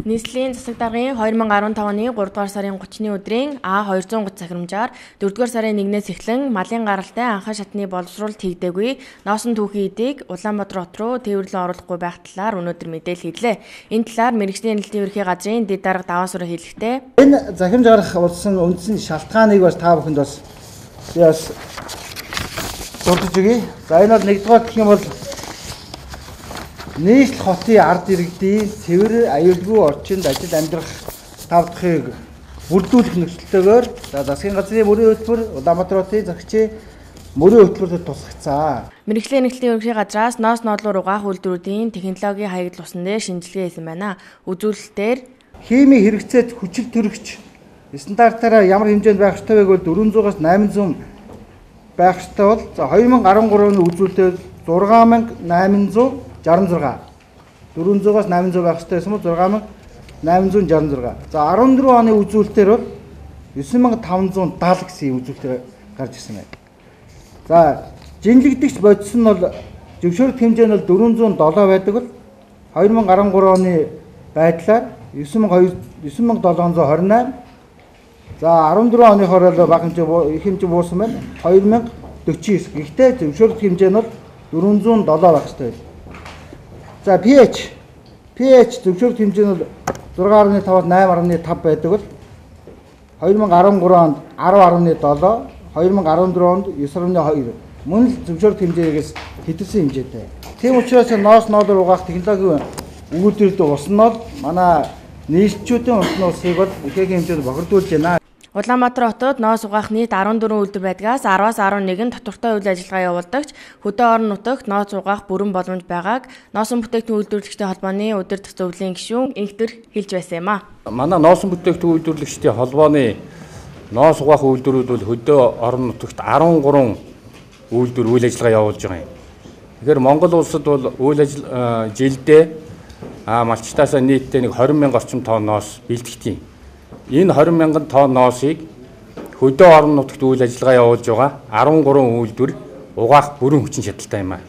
Нийслэлийн засаг даргын 2015 оны 3 дугаар сарын 30-ны өдрийн А230 захирамжаар 4 дугаар сарын 1-ээс эхлэн малын гаралтай анхан шатны боловсруулалт хийгдээгүй носон түүхийн эдийг Улаанбаатар хот руу тээвэрлэн оруулахгүй байх талаар өнөөдөр мэдээлэл хийлээ. Энэ талаар мэргэжлийн эрхлэлтийн ерхий газрын дэд дарга даваа сүрэ хэлэхдээ энэ захирамж гарах болсон үндсэн шалтгааныг бас та бүхэнд бас дурдж өгье. За энэ бол нэгдүгээр гэх юм бол нийслэл хотын ард иргэдийн цэвэр аюулгүй орчинд ажил амьдрах тав дахыг бүрдүүлэх нөхцөлтэйгээр засгийн газрын мөрийн хөтөлбөр Улаанбаатар хотын захирагчийн мөрийн хөтөлбөрөд тусгацсан. Мэргэжлийн эрхлэлтийн ерхий газраас ноос нодлуур угаах үйлдвэрүүдийн технологийн хаягдал усны дээр шинжилгээ хийсэн байна. Үзүүлэлтээр химийн хэрэгцээт хүчил төрөгч стандартаараа ямар хэмжээнд байх ёстой вэ гэвэл 400-аас 800 байх ёстой бол 2013 оны үзүүлэлтээр 6866 400-аас 800 байх ёстой юм уу 6866. За 14 оны үзүүлэлтээр бол 9570 гэсэн үзүүлэлтээр гарч ирсэн байна. За жинлэгдэгч бодис нь бол зөвшөөрөх хэмжээ нь бол 407 байдаг бол 2013 оны байдлаар 9728. За 14 оныхоор бол бага хэмжээ буусан байна 2049. Гэхдээ зөвшөөрөх хэмжээ нь бол 407 байх ёстой байна. За pH зөвшөөрөх хэмжээ нь 6.5-аас 8.5 байдаг бол 2013 онд 10.7, 2014 онд 9.2 мөн л зөвшөөрөх хэмжээгээс хэдүүлсэн хэмжээтэй. Тийм учраас ноос ноолоор угаах технологийн үйлдвэрлэлд ус нь бол манай нийслэлчүүдийн усны усыг бол ихээхэн хэмжээнд бохирдуулж байна. Улаанбаатар хотод ноос угаах нийт 14 үйлдвэр байдгаас 10-аас 11 тодорхой үйл ажиллагаа явуулдагч хөдөө орон нутагт ноос угаах бүрэн боломж байгааг носон бүтээгдэхүүн үйлдвэрлэгчдийн холбооны удирдах зөвлөлийн гишүүн инхтэр хэлж байсан юм а. Манай носон бүтээгдэхүүн үйлдвэрлэгчдийн холбооны ноос угаах үйлдвэрүүд бол хөдөө орон нутагт 13 үйлдвэр үйл ажиллагаа явуулж байгаа юм. Тэгэхээр Монгол улсад бол жилдээ малчтаасаа нийтдээ 20,000 орчим тонн ноос бэлтгэдэг. Энэ 20,000 тонн ноосыг хөдөө орон нутагт үйл ажиллагаа явуулж байгаа 13 үйлдвэр угаах бүрэн хүчин чадалтай юм а.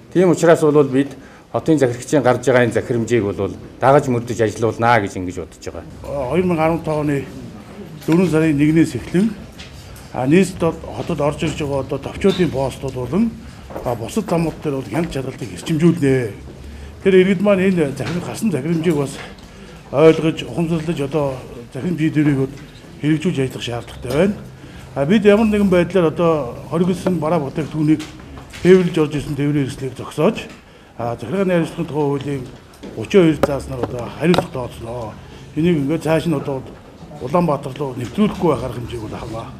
Тийм учраас бол бид хотын захирагчийн гарч байгаа энэ захирамжийг бол дагаж мөрдөж ажиллуулнаа гэж ингэж бодож байгаа. 2015 оны 4 сарын 1-ээс эхлэн нийслэл хотод орж ирж байгаа одоо товчуудын постууд болон бусад замууд дээр бол хяналт чадалтыг эрчимжүүлнэ. Тэр иргэд маань энэ гарсан захирамжийг бас ойлгож, ухамсарлаж одоо захирам шийдвэрийг хэрэгжүүлж ажиллах шаардлагатай байна. Бид ямар нэгэн байдлаар одоо хоригдсон бараа бүтээгдэхүүнийг тээвэрлж орж ирсэн тээврийн хэрэгслийг зогсоож захиргааны хариуцлагын тухай хуулийн 32 зааснаар одоо хариуцлага тооцноо. Энийг ингээд цааш нь одоо Улаанбаатар руу нэвтрүүлэхгүй байх арга хэмжээг авах.